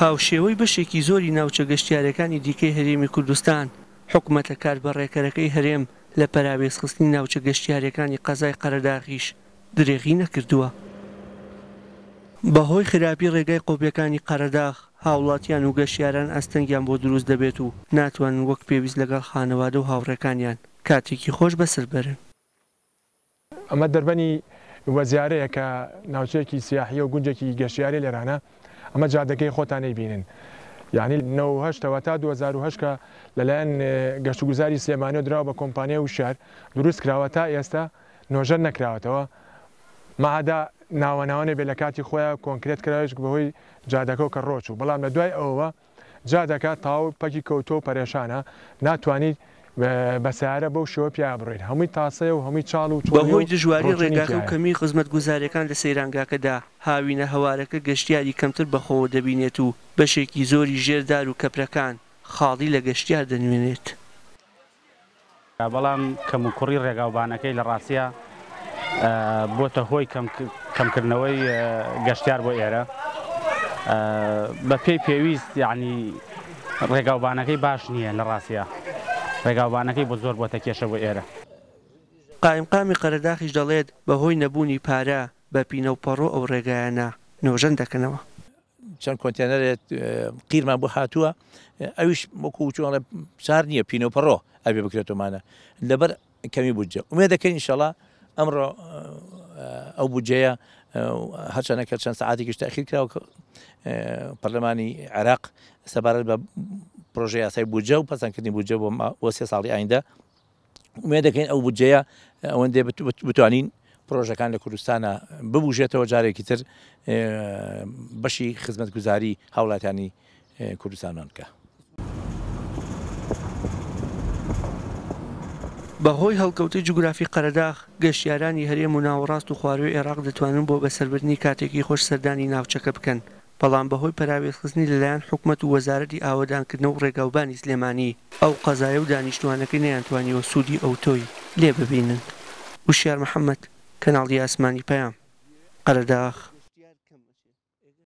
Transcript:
هاوشێوەی بەشێکی زۆری ناوچە گەشتیارەکانی دیکەی هەرێمی کوردستان، حکومەتە کاربەڕێکەرەکەی هەرێم لە پەراوێزخستنی ناوچە گەشتیارییەکانی قەزای قەرەداغیش درێغی نەکردووە. بەهۆی خراپی ڕێگای قۆپیەکانی قەرەداغ، هاوڵاتیان و گەشتیاران ئاستەنگیان بۆ دروست دەبێت و ناتوانن وەک پێویست لەگەڵ خانەوادە و هاوڕێکانیان کاتێکی خۆش بەسەر بەرن. ئەمە دەربەنی وەزیارەیە کە ناوچەیەکی سیاحیە و گونجێکی گەشتیاریە لێرانە، ئەمە جادەکەی خۆتان ئەیبینن یانی 98 ەوە تا 2008 کە لەلایەن گەشتوگوزاری سلێمانیەوە دراوە بە کۆمپانیای وشیار دروست کراوە تا ئێستا نۆژەن نەکراوەتەوە مەعدا ناوە ناوە نەبێ لە کاتی خۆیا کۆنکرێت کراویش بەهۆی جادەکەوە کە ڕۆچوو بەڵام لە دوای ئەوەوە جادەکە تەواو پەکی کەوتووە و پەرێشانە ناتوانیت بە سەیارە بەو شێوە پیایا بڕۆیت هەمووی تاسەیە و هەمووی چاڵ و چۆڵیە بەهۆی و دژواری ڕۆچوونی ڕێگاکە و تیایە. کەمیی خزمەتگوزارییەکان لە سەیرانگاکەدا، هاوینە هەوارەکە گەشتیاری کەمتر بەخۆوە دەبینێت و بەشێکی زۆری ژێر دار و کەپرەکان خاڵی لە گەشتیار دەنوێنێت. بەڵام کەموکوڕی ڕێگاوبانەکەی لە ڕاستیا بۆتە هۆی کەمکردنەوەی گەشتیار بۆ ئێرە بە پێی پێویست یعنی ڕێگاوبانەکەی باش نییە لە ڕاستیا ڕێگاوبانەکەی بۆ زۆر بۆتە کێشە بۆ ئێرە. قایمقامی قەرەداخیش دەڵێت، بەهۆی نەبوونی پارە بە پینە و پەڕۆ ئەو ڕێگایانە نۆژەن دەکەنەوە. چەند کۆنتێنەرێک قیرمان بۆ هاتووە ئەویش وەکو چۆڵێ چار نییە پینە و پەڕۆ ئەبێ بکرێتەوەمانە لەبەر کەمی بودجە ئومێ دەکەین ئینشەڵا ئەمڕۆ ئەو بودجەیە هەرچەنە کە چەند سەعاتێکیش تاخیر کراوە پەرلەمانی عێراق سەبارەت بە پرۆژە یاسای بودجە و پەسەندکردنی بودجە بۆ سێ ساڵی ئایندە ئومێد دەکەین ئەو بودجەیە ئەوەندێ بتوانین پرۆژەکان لە کوردستانە ببوژێتەوە جارێکی تر بەشی خزمەتگوزاری هاوڵاتیانی کوردستانمان بکە. بەهۆی هەڵکەوتەی جوگرافی قەرەداغ، گەشتیارانی هەرێم و ناوەڕاست و خوارووی عێراق دەتوانن بۆ بەسەربردنی کاتێکی خۆش سەردانی ناوچەکە بکەن، بەڵام بەهۆی پەراوێزخستنی لەلایەن حکومەت و وەزارەتی ئاوەدانکردنەوە و ڕێگاوبانی سلێمانی، ئەو قەزایە و دانیشتووانەکەی نەیانتوانیوە سوودی ئەوتۆی لێ ببینن. وشیار محەمەد، کەناڵی ئاسمانی پەیام، قەرەداغ.